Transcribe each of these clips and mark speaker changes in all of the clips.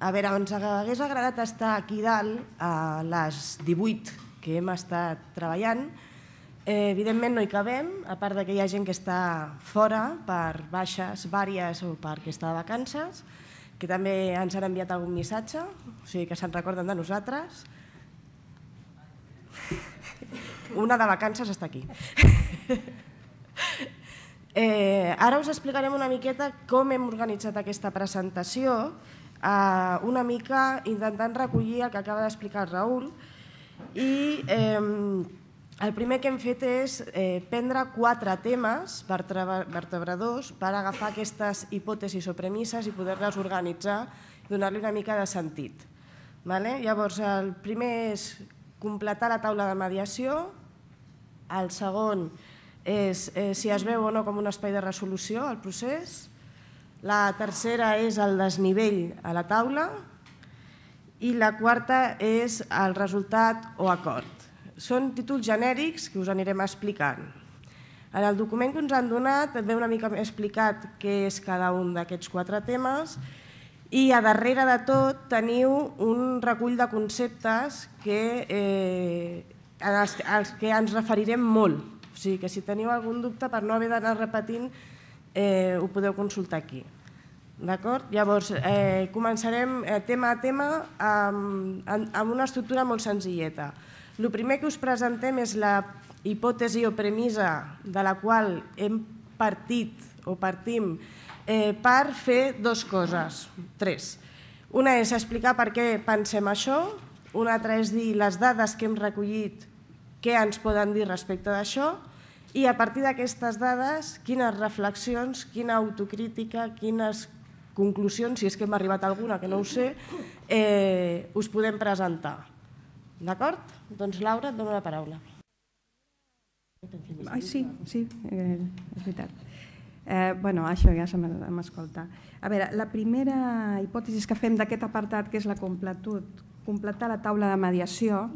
Speaker 1: A veure, ens hagués agradat estar aquí dalt a les 18 que hem estat treballant. Evidentment no hi cabem, a part que hi ha gent que està fora per baixes vàries o perquè està de vacances, que també ens han enviat algun missatge, o sigui que se'n recorden de nosaltres. Una de vacances està aquí. Ara us explicarem una miqueta com hem organitzat aquesta presentació, una mica intentant recollir el que acaba d'explicar el Raül, i el primer que hem fet és prendre 4 temes vertebradors per agafar aquestes hipòtesis o premisses i poder-les organitzar i donar-li una mica de sentit. Llavors, el primer és completar la taula de mediació, el segon és si es veu o no com un espai de resolució al procés, la tercera és el desnivell a la taula i la quarta és el resultat o acord. Són títols genèrics que us anirem explicant. En el document que ens han donat ve una mica explicat què és cada un d'aquests 4 temes i a darrere de tot teniu un recull de conceptes als que ens referirem molt. O sigui que si teniu algun dubte per no haver d'anar repetint ho podeu consultar aquí. Llavors, començarem tema a tema amb una estructura molt senzilleta. El primer que us presentem és la hipòtesi o premissa de la qual hem partit o partim per fer 2 coses, 3. Una és explicar per què pensem això, una altra és dir les dades que hem recollit, què ens poden dir respecte d'això, i a partir d'aquestes dades, quines reflexions, quina autocrítica, quines conclusions, si és que hem arribat a alguna, que no ho sé, us podem presentar. D'acord? Doncs Laura, et dono la paraula.
Speaker 2: Sí, és veritat. Això ja se m'escolta. A veure, la primera hipòtesi que fem d'aquest apartat, que és la completar la taula de mediació,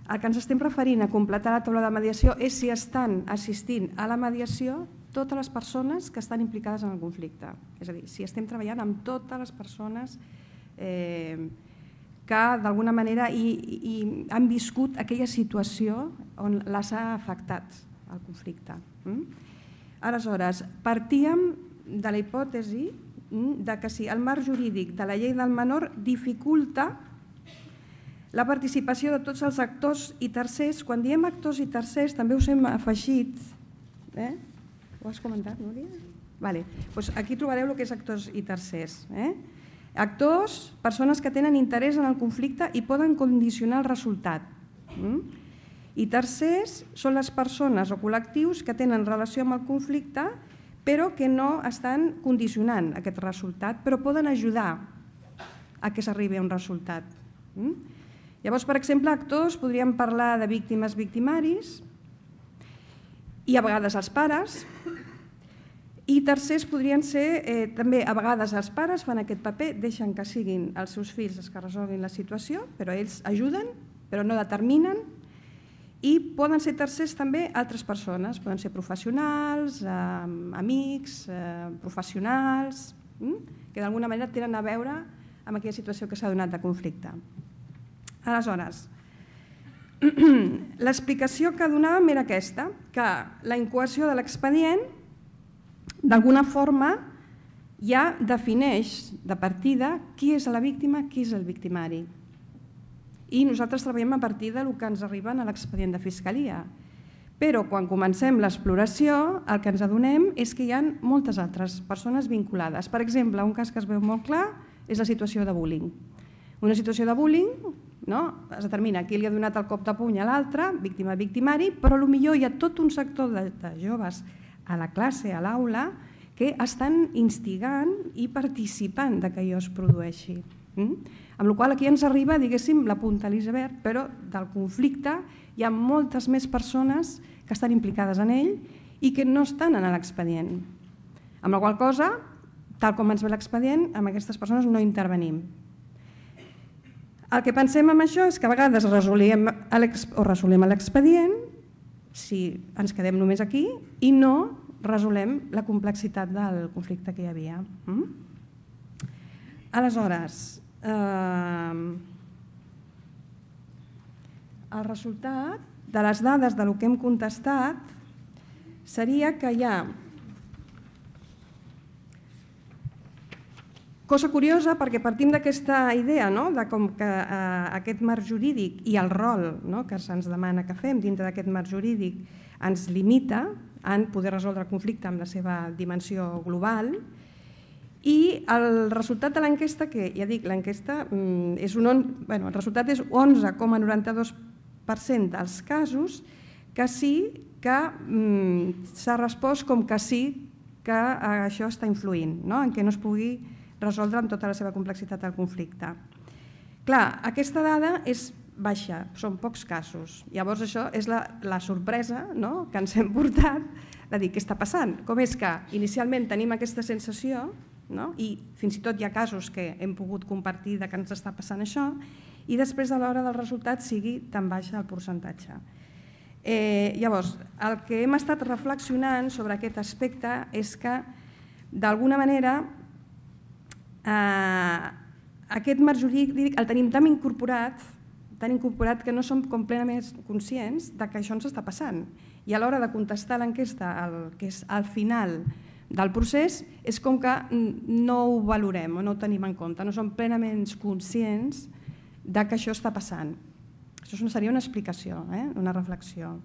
Speaker 2: el que ens estem referint a completar la taula de mediació és si estan assistint a la mediació totes les persones que estan implicades en el conflicte. És a dir, si estem treballant amb totes les persones que d'alguna manera han viscut aquella situació on les ha afectat el conflicte. Aleshores, partíem de la hipòtesi que si el marc jurídic de la llei del menor dificulta la participació de tots els actors i tercers. Quan diem actors i tercers també us hem afegit... Ho has comentat, Núria? Doncs aquí trobareu el que és actors i tercers. Actors, persones que tenen interès en el conflicte i poden condicionar el resultat. I tercers són les persones o col·lectius que tenen relació amb el conflicte però que no estan condicionant aquest resultat, però poden ajudar a que s'arribi a un resultat. Llavors, per exemple, actors, podríem parlar de víctimes, victimaris i a vegades els pares, i tercers podrien ser també a vegades els pares fan aquest paper, deixen que siguin els seus fills els que resolguin la situació, però ells ajuden, però no determinen, i poden ser tercers també altres persones, poden ser professionals, amics, professionals, que d'alguna manera tenen a veure amb aquella situació que s'ha donat de conflicte. Aleshores, l'explicació que donàvem era aquesta, que la incoació de l'expedient d'alguna forma ja defineix de partida qui és la víctima, qui és el victimari. I nosaltres treballem a partir del que ens arriba a l'expedient de Fiscalia. Però quan comencem l'exploració el que ens adonem és que hi ha moltes altres persones vinculades. Per exemple, un cas que es veu molt clar és la situació de bullying. Una situació de bullying es determina qui li ha donat el cop de puny a l'altre, víctima, victimari, però potser hi ha tot un sector de joves a la classe, a l'aula, que estan instigant i participant que allò es produeixi. Amb la qual cosa aquí ens arriba, diguéssim, la punta a l'iceberg, però del conflicte hi ha moltes més persones que estan implicades en ell i que no estan en l'expedient. Amb la qual cosa, tal com ens ve l'expedient, amb aquestes persones no intervenim. El que pensem amb això és que a vegades resolem l'expedient si ens quedem només aquí i no resolem la complexitat del conflicte que hi havia. Aleshores, el resultat de les dades del que hem contestat seria que hi ha cosa curiosa, perquè partim d'aquesta idea de com que aquest marc jurídic i el rol que se'ns demana que fem dintre d'aquest marc jurídic ens limita a poder resoldre el conflicte amb la seva dimensió global, i el resultat de l'enquesta, que ja dic, l'enquesta és el resultat és 11,92% dels casos que sí que s'ha respost com que sí que això està influint, en què no es pugui resoldre amb tota la seva complexitat el conflicte. Clar, aquesta dada és baixa, són pocs casos. Llavors això és la sorpresa que ens hem portat de dir què està passant. Com és que inicialment tenim aquesta sensació i fins i tot hi ha casos que hem pogut compartir que ens està passant això i després a l'hora del resultat sigui tan baixa el percentatge. Llavors, el que hem estat reflexionant sobre aquest aspecte és que d'alguna manera aquest marc jurídic el tenim tan incorporat que no som completament conscients que això ens està passant. I a l'hora de contestar l'enquesta, que és al final del procés, és com que no ho valorem o no ho tenim en compte, no som plenament conscients que això està passant. Això seria una explicació, una reflexió.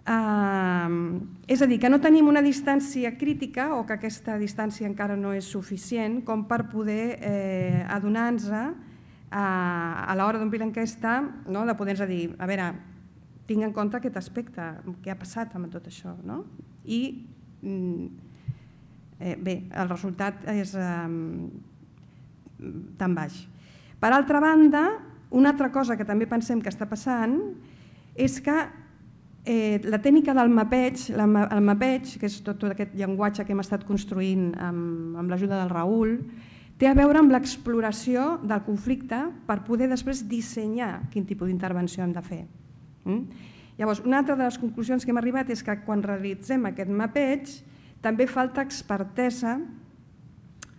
Speaker 2: És a dir, que no tenim una distància crítica o que aquesta distància encara no és suficient com per poder adonar-nos a l'hora d'omplir l'enquesta, de poder-nos dir, a veure, tinc en compte aquest aspecte, què ha passat amb tot això. I bé, el resultat és tan baix. Per altra banda, una altra cosa que també pensem que està passant és que la tècnica del mapeig, el mapeig, que és tot aquest llenguatge que hem estat construint amb l'ajuda del Raül, té a veure amb l'exploració del conflicte per poder després dissenyar quin tipus d'intervenció hem de fer. Llavors, una altra de les conclusions que hem arribat és que quan realitzem aquest mapeig també falta expertesa,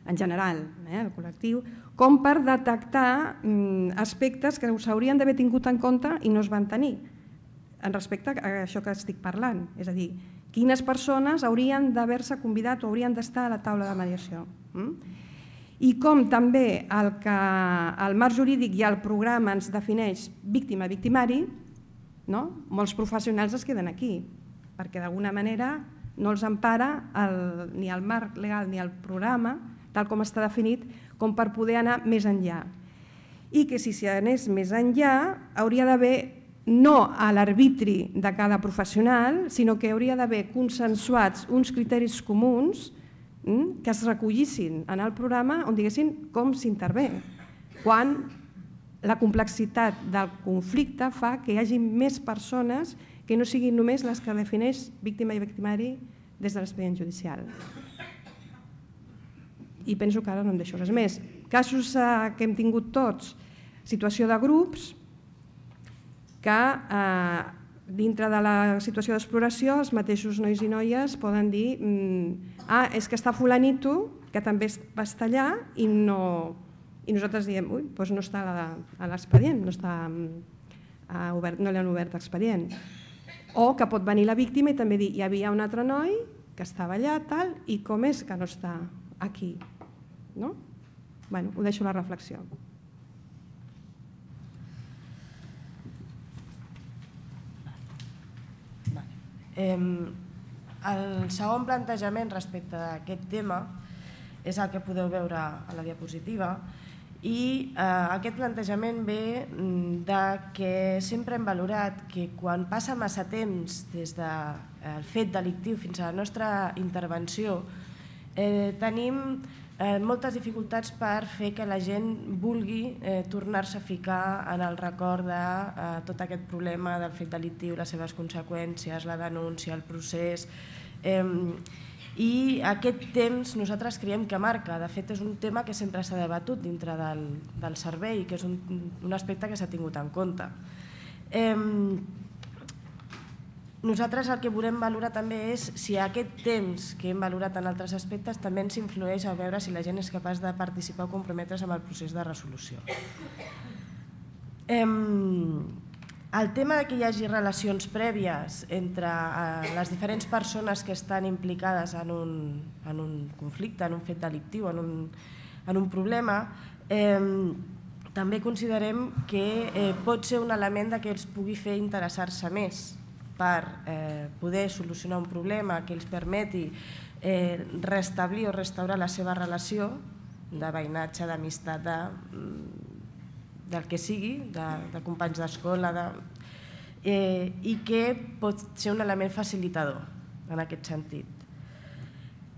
Speaker 2: en general, el col·lectiu, com per detectar aspectes que s'haurien d'haver tingut en compte i no es van tenir en respecte a això que estic parlant. És a dir, quines persones haurien d'haver-se convidat o haurien d'estar a la taula de mediació. I com també el marc jurídic i el programa ens defineix víctima-victimari, molts professionals es queden aquí, perquè d'alguna manera no els empara ni el marc legal ni el programa, tal com està definit, com per poder anar més enllà. I que si s'anés més enllà hauria d'haver no a l'arbitri de cada professional, sinó que hauria d'haver consensuats uns criteris comuns que es recollissin en el programa on diguessin com s'intervé, quan la complexitat del conflicte fa que hi hagi més persones que no siguin només les que defineix víctima i victimari des de l'expedient judicial. I penso que ara no em deixo res més. Casos que hem tingut tots, situació de grups, que dintre de la situació d'exploració els mateixos nois i noies poden dir és que està fulanito, que també va estar allà i nosaltres diem doncs no està a l'expedient, no li han obert expedient. O que pot venir la víctima i també dir hi havia un altre noi que estava allà i com és que no està aquí. Ho deixo a la reflexió.
Speaker 1: El segon plantejament respecte a aquest tema és el que podeu veure a la diapositiva i aquest plantejament ve de que sempre hem valorat que quan passa massa temps des del fet delictiu fins a la nostra intervenció tenim moltes dificultats per fer que la gent vulgui tornar-se a ficar en el record de tot aquest problema del fet delictiu, les seves conseqüències, la denúncia, el procés. I aquest temps nosaltres creiem que marca. De fet, és un tema que sempre s'ha debatut dintre del servei, que és un aspecte que s'ha tingut en compte. Nosaltres el que volem valorar també és si aquest temps que hem valorat en altres aspectes també ens influeix a veure si la gent és capaç de participar o comprometre's amb el procés de resolució. El tema que hi hagi relacions prèvies entre les diferents persones que estan implicades en un conflicte, en un fet delictiu, en un problema, també considerem que pot ser un element que els pugui fer interessar-se més per poder solucionar un problema que els permeti restablir o restaurar la seva relació de veïnatge, d'amistat, del que sigui, de companys d'escola, i que pot ser un element facilitador en aquest sentit.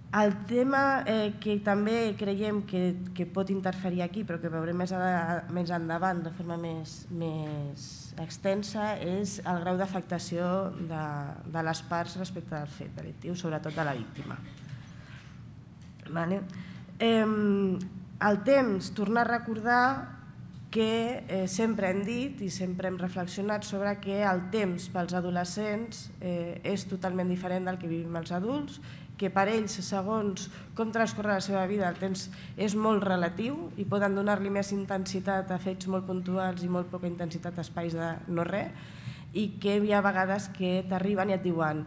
Speaker 1: El tema que també creiem que pot interferir aquí, però que veurem més endavant de forma més extensa, és el grau d'afectació de les parts respecte del fet delictiu, sobretot de la víctima. El temps, tornar a recordar que sempre hem dit i sempre hem reflexionat sobre que el temps pels adolescents és totalment diferent del que vivim els adults, que per ells, segons com transcorre la seva vida, el temps és molt relatiu i poden donar-li més intensitat a fets molt puntuals i molt poca intensitat a espais de no res, i que hi ha vegades que t'arriben i et diuen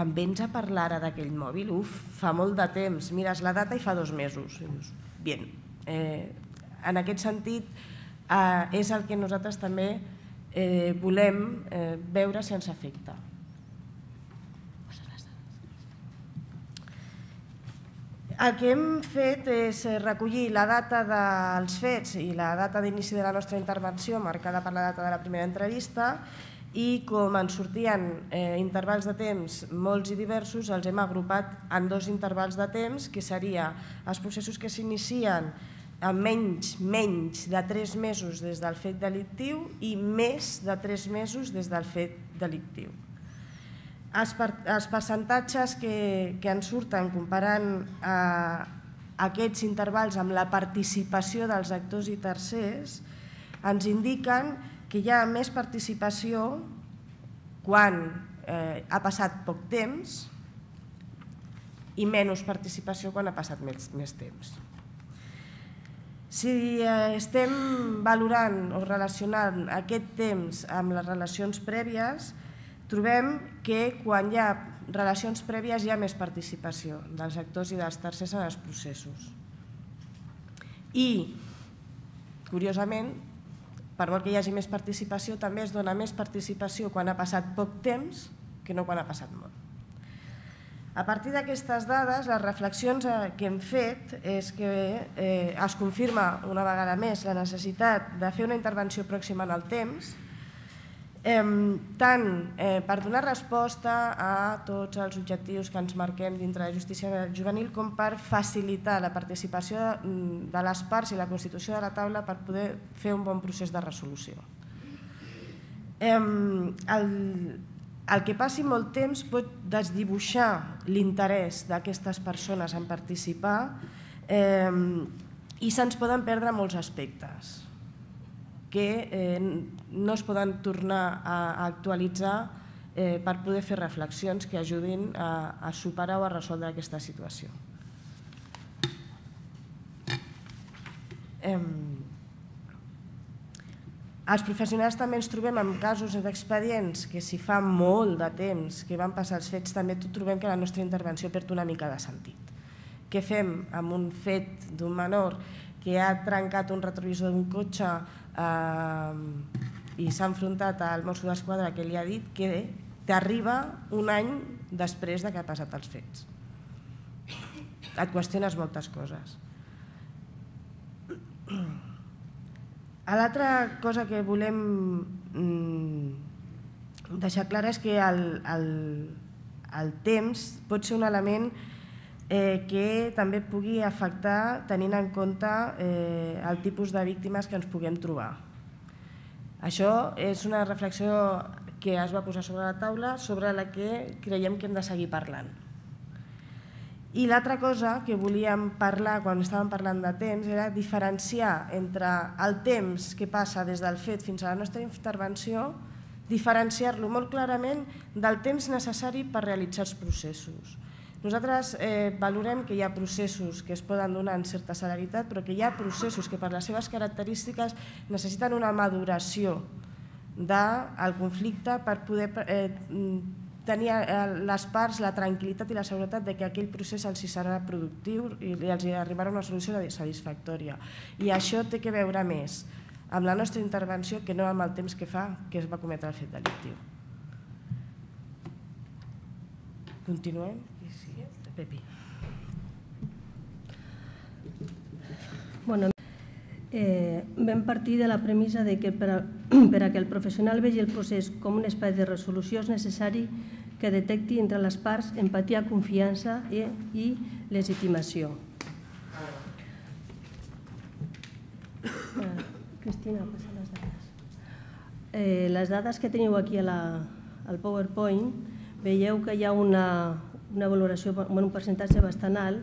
Speaker 1: em vens a parlar ara d'aquell mòbil? Uf, fa molt de temps, mires la data i fa 2 mesos. I dius, bien. En aquest sentit, és el que nosaltres també volem veure si ens afecta. El que hem fet és recollir la data dels fets i la data d'inici de la nostra intervenció, marcada per la data de la primera entrevista, i com ens sortien intervals de temps molts i diversos, els hem agrupat en 2 intervals de temps, que seria els processos que s'inicien amb menys de 3 mesos des del fet delictiu i més de 3 mesos des del fet delictiu. Els percentatges que ens surten comparant aquests intervals amb la participació dels actors i tercers ens indiquen que hi ha més participació quan ha passat poc temps i menys participació quan ha passat més temps. Si estem valorant o relacionant aquest temps amb les relacions prèvies, trobem que quan hi ha relacions prèvies hi ha més participació dels actors i dels tercers en els processos. I, curiosament, per molt que hi hagi més participació, també es dona més participació quan ha passat poc temps que no quan ha passat molt. A partir d'aquestes dades, les reflexions que hem fet és que es confirma una vegada més la necessitat de fer una intervenció pròxima en el temps, tant per donar resposta a tots els objectius que ens marquem dintre de justícia juvenil com per facilitar la participació de les parts i la constitució de la taula per poder fer un bon procés de resolució. El que passi molt temps pot desdibuixar l'interès d'aquestes persones en participar i se'ns poden perdre molts aspectes que no es poden tornar a actualitzar per poder fer reflexions que ajudin a superar o a resoldre aquesta situació. Els professionals també ens trobem amb casos d'expedients que si fa molt de temps que van passar els fets també trobem que la nostra intervenció perd una mica de sentit. Què fem amb un fet d'un menor que ha trencat un retrovisor d'un cotxe i s'ha enfrontat al Mosso d'Esquadra que li ha dit que t'arriba un any després que ha passat els fets? Et qüestiones moltes coses. L'altra cosa que volem deixar clara és que el temps pot ser un element que també pugui afectar tenint en compte el tipus de víctimes que ens puguem trobar. Això és una reflexió que es va posar sobre la taula sobre la que creiem que hem de seguir parlant. I l'altra cosa que volíem parlar quan estàvem parlant de temps era diferenciar entre el temps que passa des del fet fins a la nostra intervenció diferenciar-lo molt clarament del temps necessari per realitzar els processos. Nosaltres valorem que hi ha processos que es poden donar en certa celeritat, però que hi ha processos que per les seves característiques necessiten una maduració del conflicte per poder tenir les parts la tranquil·litat i la seguretat de que aquell procés els serà productiu i els arribarà a una solució satisfactòria. I això té que veure més amb la nostra intervenció que no amb el temps que fa que es va cometre el fet delictiu. Continuem? Pepi.
Speaker 3: Bueno, vam partir de la premissa que per a que el professional vegi el procés com un espai de resolució és necessari que detecti entre les parts empatia, confiança i legitimació. Cristina, passa les dades. Les dades que teniu aquí al PowerPoint, veieu que hi ha una valoració, un percentatge bastant alt,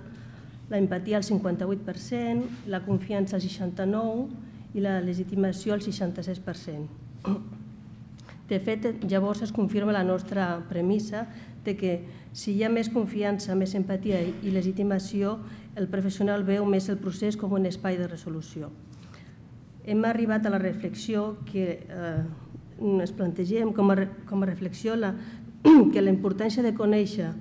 Speaker 3: la empatia al 58%, la confiança al 69% i la legitimació al 66%. De fet, llavors es confirma la nostra premissa de que si hi ha més confiança, més empatia i legitimació, el professional veu més el procés com un espai de resolució. Hem arribat a la reflexió que ens plantegem com a reflexió que la importància de conèixer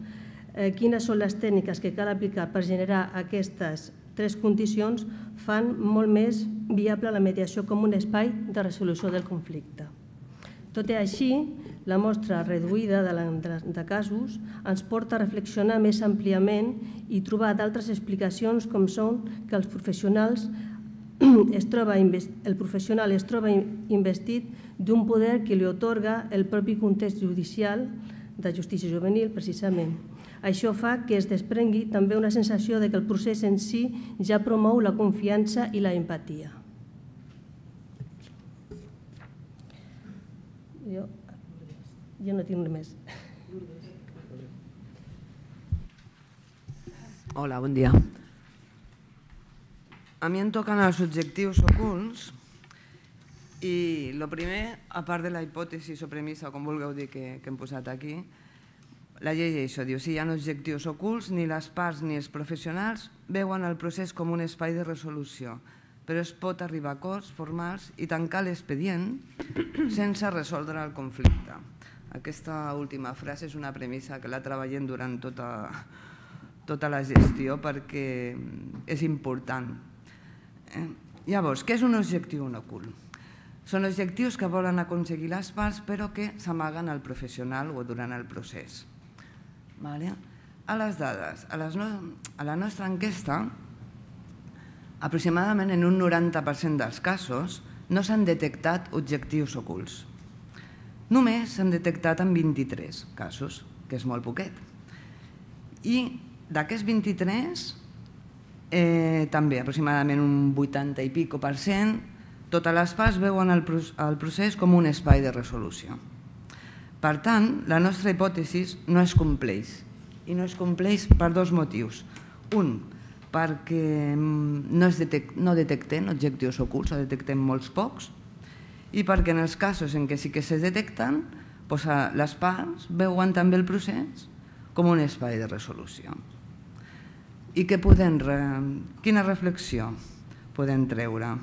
Speaker 3: quines són les tècniques que cal aplicar per generar aquestes tres condicions fan molt més viable la mediació com un espai de resolució del conflicte. Tot i així, la mostra reduïda de casos ens porta a reflexionar més àmpliament i trobar d'altres explicacions com són que el professional es troba investit d'un poder que li atorga el propi context judicial de justícia juvenil, precisament. Això fa que es desprengui també una sensació que el procés en si ja promou la confiança i la empatia. Jo no tinc res més.
Speaker 4: Hola, bon dia. A mi em toquen els objectius ocults i el primer, a part de la hipòtesi o premissa, com vulgueu dir que hem posat aquí, la llei això diu, si hi ha objectius ocults, ni les parts ni els professionals veuen el procés com un espai de resolució, però es pot arribar a acords formals i tancar l'expedient sense resoldre el conflicte. Aquesta última frase és una premissa que la treballem durant tota la gestió perquè és important. Llavors, què és un objectiu ocult? Són objectius que volen aconseguir les parts però que s'amaguen al professional o durant el procés. A les dades, a la nostra enquesta, aproximadament en un 90% dels casos no s'han detectat objectius ocults. Només s'han detectat en 23 casos, que és molt poquet. I d'aquests 23, també aproximadament un 80 i pico %, totes les parts veuen el procés com un espai de resolució. Per tant, la nostra hipòtesi no es compleix. I no es compleix per dos motius. Un, perquè no detectem objectius ocults, o detectem molts pocs, i perquè en els casos en què sí que se detecten, les parts veuen també el procés com un espai de resolució. I quina reflexió podem treure?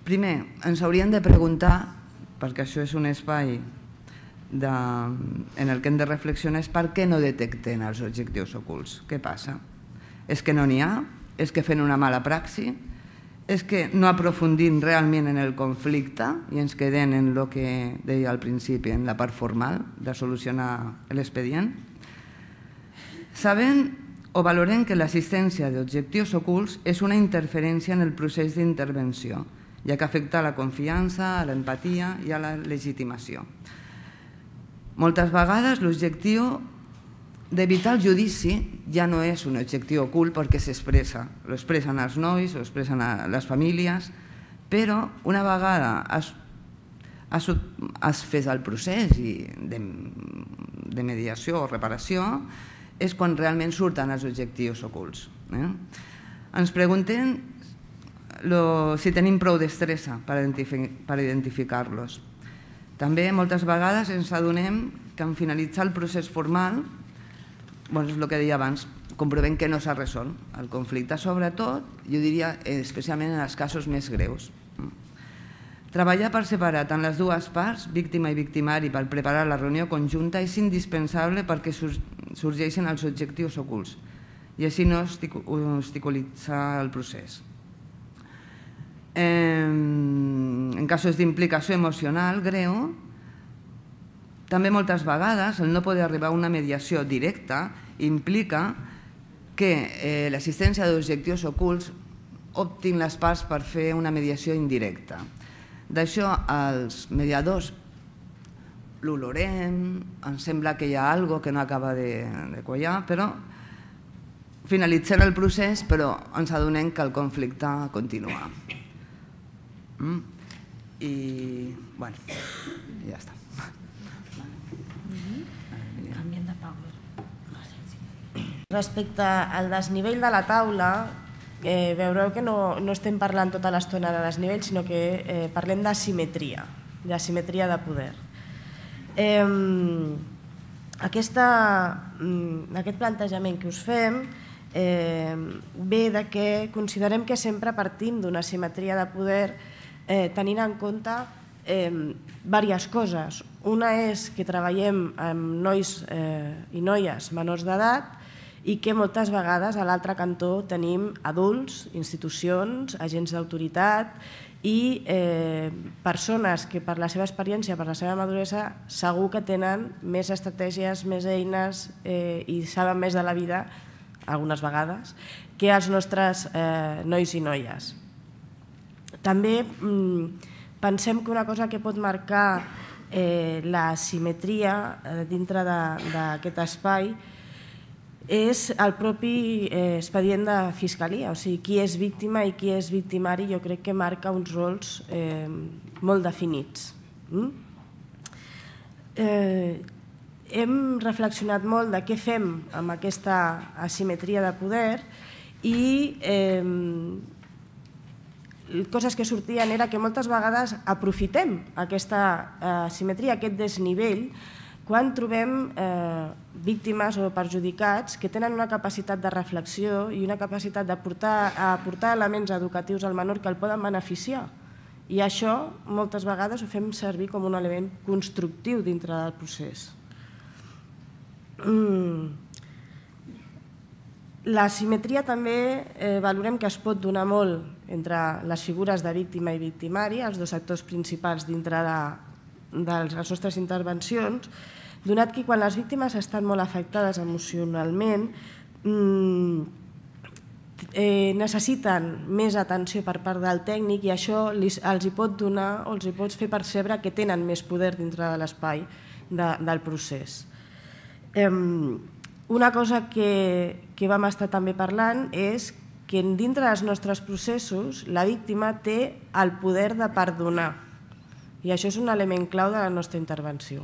Speaker 4: Primer, ens hauríem de preguntar, perquè això és un espai en el que hem de reflexionar, és per què no detecten els objectius ocults. Què passa? És que no n'hi ha? És que fem una mala praxi? És que no aprofundim realment en el conflicte i ens quedem en el que deia al principi, en la part formal de solucionar l'expedient? Sabem o valorem que l'assistència d'objectius ocults és una interferència en el procés d'intervenció, ja que afecta a la confiança, a l'empatia i a la legitimació. Moltes vegades l'objectiu d'evitar el judici ja no és un objectiu ocult perquè s'expressa. Lo expressen els nois, lo expressen les famílies, però una vegada has fet el procés de mediació o reparació és quan realment surten els objectius ocults. Ens preguntem si tenim prou destresa per identificar-los. També moltes vegades ens adonem que en finalitzar el procés formal, és el que deia abans, comprovem que no s'ha resolt el conflicte, sobretot, jo diria especialment en els casos més greus. Treballar per separar tant les dues parts, víctima i victimari, per preparar la reunió conjunta és indispensable perquè sorgeixen els objectius ocults i així no obstaculitzar el procés. En casos d'implicació emocional greu, també moltes vegades el no poder arribar a una mediació directa implica que l'assistència d'objectius ocults optin les parts per fer una mediació indirecta. D'això els mediadors l'olorem, ens sembla que hi ha alguna cosa que no acaba de quallar, però finalitzem el procés però ens adonem que el conflicte continua. I, bueno, ja està.
Speaker 1: Respecte al desnivell de la taula, veureu que no estem parlant tota l'estona de desnivell, sinó que parlem d'asimetria de poder. Aquest plantejament que us fem ve de que considerem que sempre partim d'una asimetria de poder tenint en compte diverses coses. Una és que treballem amb nois i noies menors d'edat i que moltes vegades a l'altre cantó tenim adults, institucions, agents d'autoritat i persones que per la seva experiència, per la seva maduresa, segur que tenen més estratègies, més eines i saben més de la vida, algunes vegades, que els nostres nois i noies. També pensem que una cosa que pot marcar la simetria dintre d'aquest espai és el propi expedient de fiscalia, o sigui, qui és víctima i qui és victimari, jo crec que marca uns rols molt definits. Hem reflexionat molt de què fem amb aquesta asimetria de poder i coses que sortien era que moltes vegades aprofitem aquesta asimetria, aquest desnivell, quan trobem víctimes o perjudicats que tenen una capacitat de reflexió i una capacitat d'aportar elements educatius al menor que el poden beneficiar. I això moltes vegades ho fem servir com un element constructiu dintre del procés. La simetria també valorem que es pot donar molt entre les figures de víctima i victimari, els dos actors principals dintre de les nostres intervencions, donat que quan les víctimes estan molt afectades emocionalment necessiten més atenció per part del tècnic i això els hi pot donar o els hi pot fer percebre que tenen més poder dintre de l'espai del procés. Una cosa que vam estar també parlant és que dintre dels nostres processos la víctima té el poder de perdonar i això és un element clau de la nostra intervenció.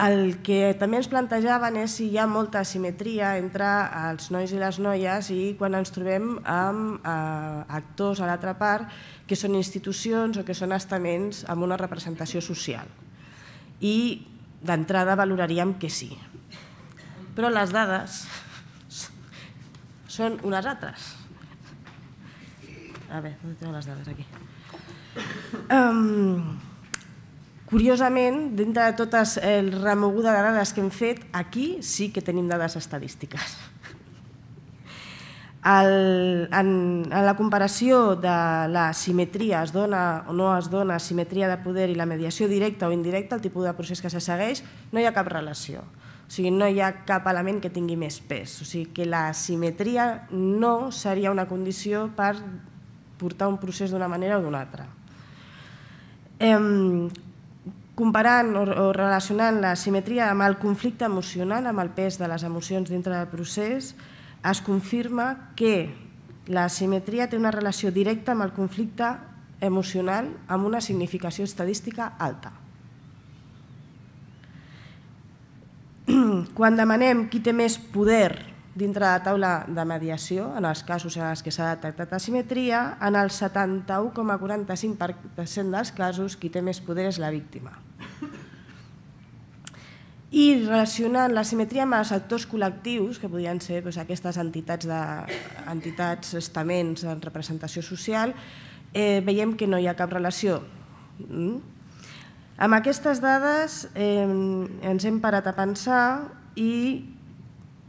Speaker 1: El que també ens plantejaven és si hi ha molta asimetria entre els nois i les noies i quan ens trobem amb actors a l'altra part que són institucions o que són estaments amb una representació social. I d'entrada valoraríem que sí. Però les dades són unes altres. A veure, on tinc les dades aquí? Curiosament, dintre de totes el remoguda de dades que hem fet, aquí sí que tenim dades estadístiques. En la comparació de la simetria, es dona o no es dona simetria de poder i la mediació directa o indirecta, el tipus de procés que se segueix, no hi ha cap relació. O sigui, no hi ha cap element que tingui més pes. O sigui, que la simetria no seria una condició per portar un procés d'una manera o d'una altra. Comparant o relacionant la simetria amb el conflicte emocional, amb el pes de les emocions dintre del procés, es confirma que la simetria té una relació directa amb el conflicte emocional amb una significació estadística alta. Quan demanem qui té més poder dintre de la taula de mediació, en els casos en els que s'ha detectat asimetria, en el 71,45% dels casos qui té més poder és la víctima. I relacionant l'asimetria amb els actors col·lectius, que podrien ser aquestes entitats, estaments en representació social, veiem que no hi ha cap relació. Amb aquestes dades ens hem parat a pensar i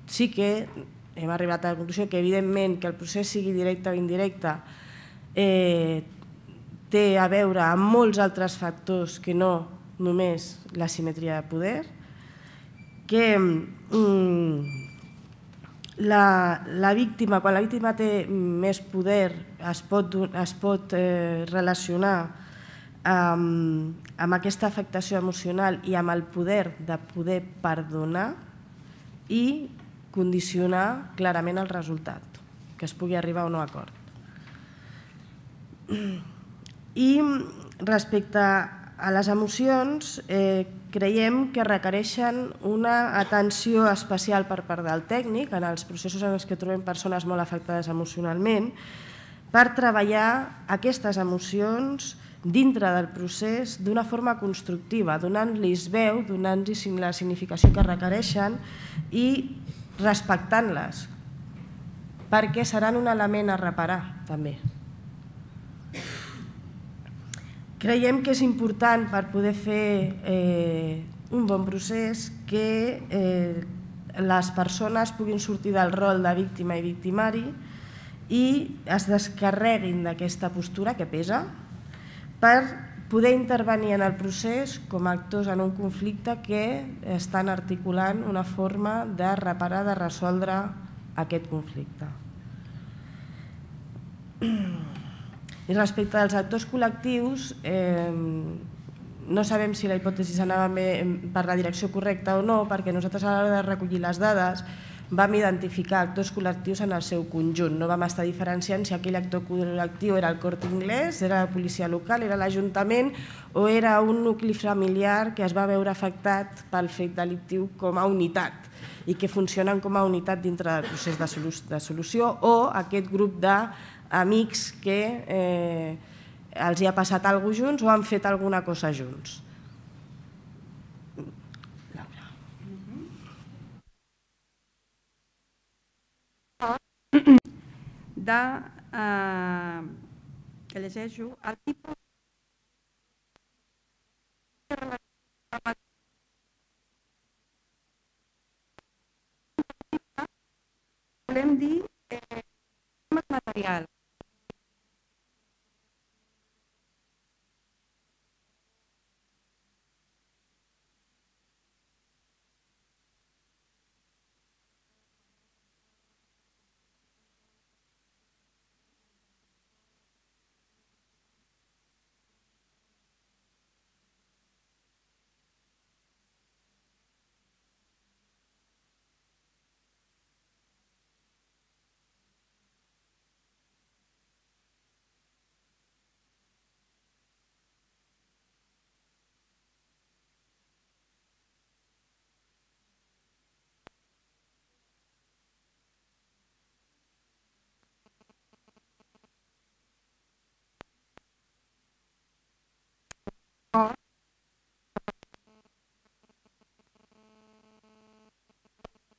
Speaker 1: sí que hem arribat a la conclusió que evidentment que el procés sigui directe o indirecte té a veure amb molts altres factors que no només l'asimetria de poder, que la víctima, quan la víctima té més poder, es pot relacionar amb aquesta afectació emocional i amb el poder de poder perdonar i condicionar clarament el resultat, que es pugui arribar a un acord. I respecte a les emocions, creiem que requereixen una atenció especial per part del tècnic en els processos en els que trobem persones molt afectades emocionalment per treballar aquestes emocions dintre del procés d'una forma constructiva, donant-los veu, donant-los la significació que requereixen i respectant-les, perquè seran un element a reparar també. Creiem que és important per poder fer un bon procés que les persones puguin sortir del rol de víctima i victimari i es descarreguin d'aquesta postura que pesa per poder intervenir en el procés com a actors en un conflicte que estan articulant una forma de reparar, de resoldre aquest conflicte. I respecte als actors col·lectius, no sabem si la hipòtesi anava per la direcció correcta o no, perquè nosaltres a l'hora de recollir les dades vam identificar actors col·lectius en el seu conjunt. No vam estar diferenciant si aquell actor col·lectiu era el Corte Inglés, era la policia local, era l'Ajuntament o era un nucli familiar que es va veure afectat pel fet delictiu com a unitat i que funcionen com a unitat dintre del procés de solució, o aquest grup d'amics que els hi ha passat alguna cosa junts o han fet alguna cosa junts.
Speaker 2: Que llegeixo, el tipus volem dir material.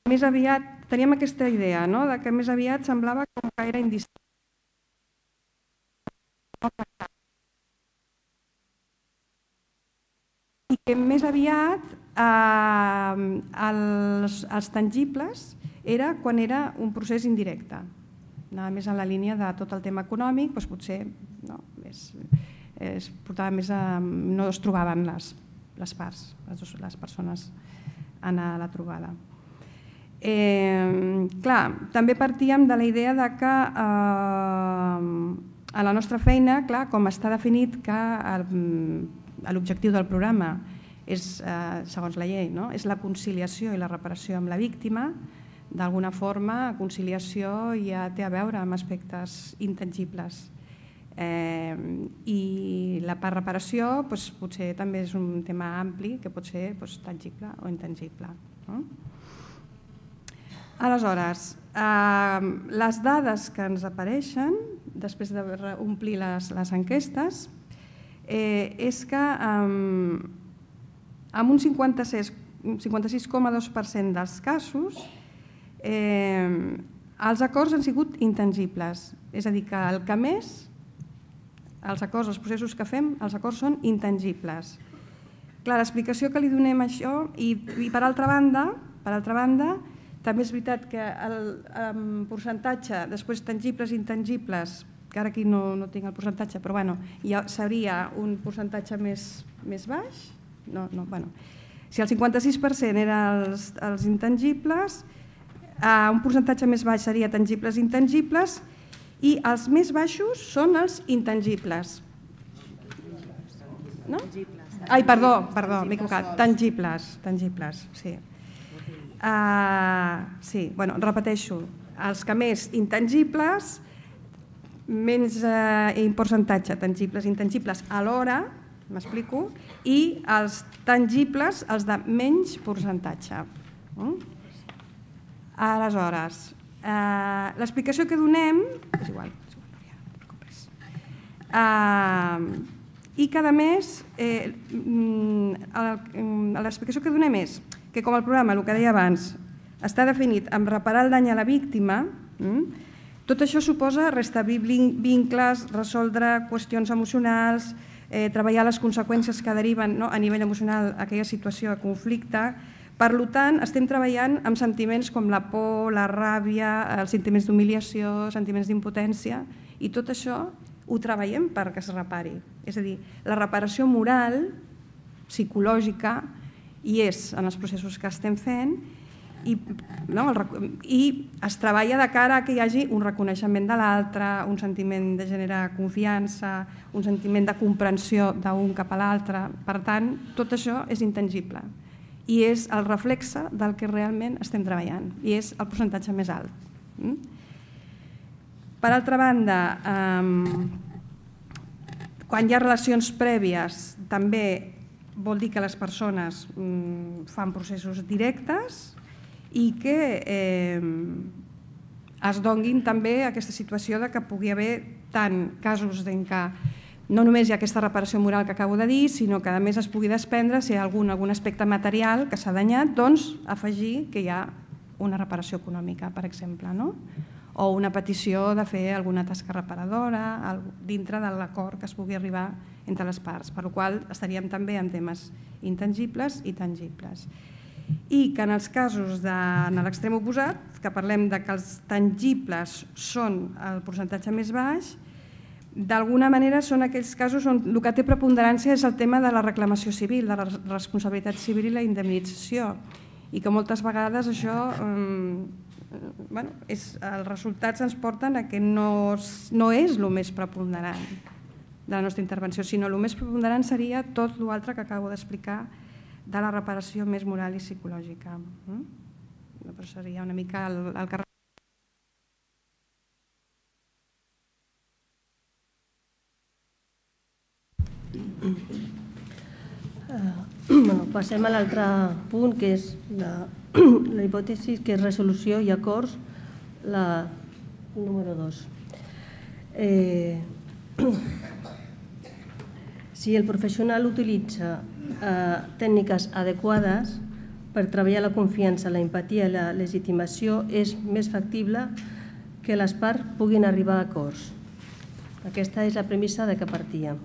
Speaker 2: Més aviat teníem aquesta idea, que més aviat semblava com que era indistinct. I que més aviat els tangibles era quan era un procés indirecte. Anava més en la línia de tot el tema econòmic, doncs potser es portava més no es trobaven les parts, les persones en la trobada. Clar, també partíem de la idea que a la nostra feina, com està definit que l'objectiu del programa és, segons la llei, és la conciliació i la reparació amb la víctima, d'alguna forma conciliació ja té a veure amb aspectes intangibles. I la part reparació potser també és un tema ampli que pot ser tangible o intangible. Aleshores, les dades que ens apareixen, després d'omplir les enquestes, és que amb un 56,2% dels casos els acords han sigut intangibles. És a dir, que el que més, els acords, els processos que fem, els acords són intangibles. Clar, l'explicació que li donem a això, i per altra banda, també és veritat que el percentatge, després tangibles i intangibles, que ara aquí no tinc el percentatge, però ja seria un percentatge més baix. Si el 56% eren els intangibles, un percentatge més baix seria tangibles i intangibles, i els més baixos són els intangibles. Ai, perdó, m'he equivocat. Tangibles, sí. Sí, repeteixo, els que més intangibles, menys percentatge, tangibles i intangibles alhora, m'explico, i els tangibles, els de menys percentatge. Aleshores, l'explicació que donem, és igual, no et preocupis, i que a més l'explicació que donem és que com el programa, el que deia abans, està definit amb reparar el dany a la víctima, tot això suposa restablir vincles, resoldre qüestions emocionals, treballar les conseqüències que deriven a nivell emocional aquella situació de conflicte. Per tant, estem treballant amb sentiments com la por, la ràbia, els sentiments d'humiliació, sentiments d'impotència, i tot això ho treballem perquè es repari. És a dir, la reparació moral, psicològica, hi és en els processos que estem fent, i es treballa de cara que hi hagi un reconeixement de l'altre, un sentiment de generar confiança, un sentiment de comprensió d'un cap a l'altre. Per tant, tot això és intangible i és el reflexe del que realment estem treballant i és el percentatge més alt. Per altra banda, quan hi ha relacions prèvies, també vol dir que les persones fan processos directes i que es donguin també aquesta situació que pugui haver tant casos en què no només hi ha aquesta reparació moral que acabo de dir, sinó que a més es pugui desprendre si hi ha algun aspecte material que s'ha danyat, doncs afegir que hi ha una reparació econòmica, per exemple, o una petició de fer alguna tasca reparadora dintre de l'acord que es pugui arribar entre les parts, per la qual cosa estaríem també en temes intangibles i tangibles. I que en els casos en l'extrem oposat, que parlem que els tangibles són el percentatge més baix, d'alguna manera són aquells casos on el que té preponderància és el tema de la reclamació civil, de la responsabilitat civil i la indemnització, i que moltes vegades això, els resultats ens porten a que no és el més preponderant de la nostra intervenció, sinó el més preponderant seria tot l'altre que acabo d'explicar de la reparació més moral i psicològica. Però seria una mica el que...
Speaker 3: Passem a l'altre punt, que és la hipòtesi, que és resolució i acords, la número 2. Si el professional utilitza tècniques adequades per treballar la confiança, la empatia i la legitimació, és més factible que les parts puguin arribar a acords. Aquesta és la premissa de què partíem.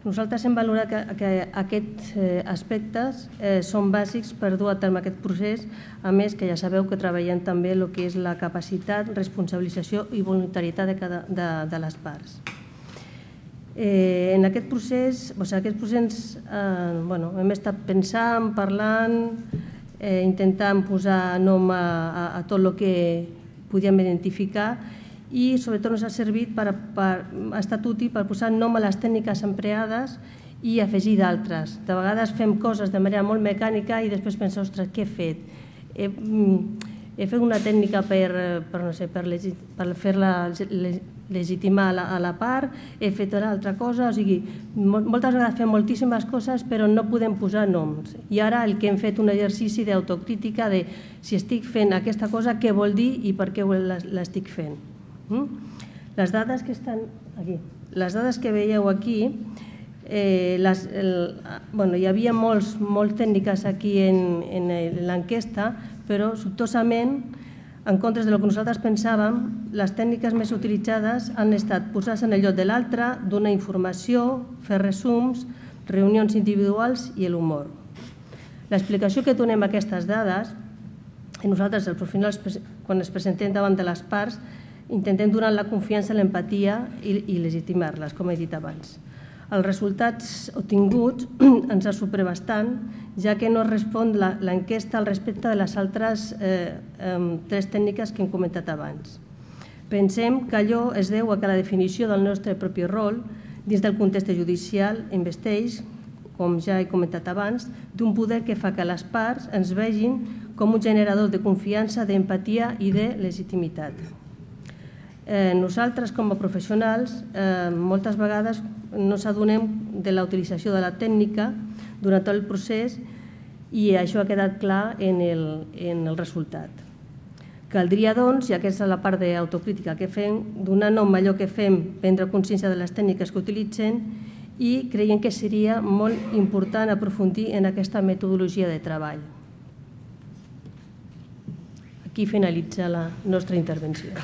Speaker 3: Nosaltres hem valorat que aquests aspectes són bàsics per dur a terme aquest procés, a més que ja sabeu que treballem també el que és la capacitat, responsabilització i voluntarietat de les parts. En aquest procés hem estat pensant, parlant, intentant posar nom a tot el que podíem identificar i sobretot ens ha servit ha estat útil per posar nom a les tècniques empleades i afegir d'altres. De vegades fem coses de manera molt mecànica i després pensem, ostres, què he fet? He fet una tècnica per fer legitimar a la part, he fet una altra cosa, o sigui, moltes vegades fem moltíssimes coses però no podem posar noms. I ara el que hem fet un exercici d'autocrítica de si estic fent aquesta cosa, què vol dir i per què l'estic fent. Les dades que estan aquí, les dades que veieu aquí, hi havia moltes tècniques aquí en l'enquesta, però sobtosament, en comptes del que nosaltres pensàvem, les tècniques més utilitzades han estat posar-se en el lloc de l'altre, donar informació, fer resums, reunions individuals i l'humor. L'explicació que donem a aquestes dades, i nosaltres, els professionals, quan ens presentem davant de les parts, intentem donar la confiança, l'empatia i legitimar-les, com he dit abans. Els resultats obtinguts ens sorprèn bastant, ja que no respon l'enquesta al respecte de les altres 3 tècniques que hem comentat abans. Pensem que allò es deu a que la definició del nostre propi rol dins del context judicial investeix, com ja he comentat abans, d'un poder que fa que les parts ens vegin com un generador de confiança, d'empatia i de legitimitat. Nosaltres, com a professionals, moltes vegades no s'adonem de la utilització de la tècnica durant tot el procés i això ha quedat clar en el resultat. Caldria, doncs, i aquesta és la part d'autocrítica que fem, donar nom a allò que fem, prendre consciència de les tècniques que utilitzen i creiem que seria molt important aprofundir en aquesta metodologia de treball. Aquí finalitza la nostra intervenció.